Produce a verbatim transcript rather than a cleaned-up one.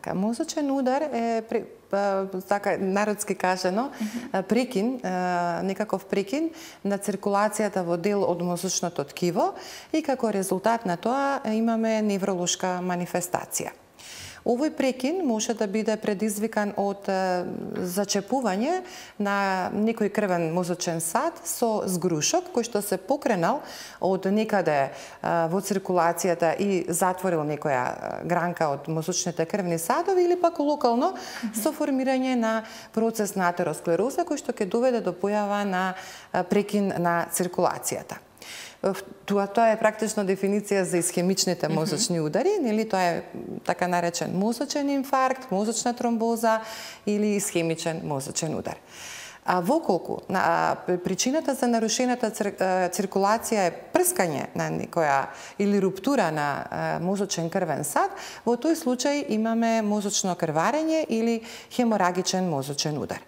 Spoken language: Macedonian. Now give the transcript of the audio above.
Така, мозочен удар е така народски кажано прекин, некаков прекин на циркулацијата во дел од мозочното ткиво и како резултат на тоа имаме невролошка манифестација. Овој прекин може да биде предизвикан од зачепување на некој крвен мозочен сад со згрушок кој што се покренал од некаде во циркулацијата и затворил некоја гранка од мозочните крвни садови или пак локално со формирање на процес на атеросклероза кој што ќе доведе до појава на прекин на циркулацијата. Тоа, тоа е практично дефиниција за исхемичните мозочни удари, нели тоа е така наречен мозочен инфаркт, мозочна тромбоза или исхемичен мозочен удар. А воколку на причината за нарушената циркулација е прскање на некоја или руптура на мозочен крвен сад, во тој случај имаме мозочно крварење или хеморагичен мозочен удар.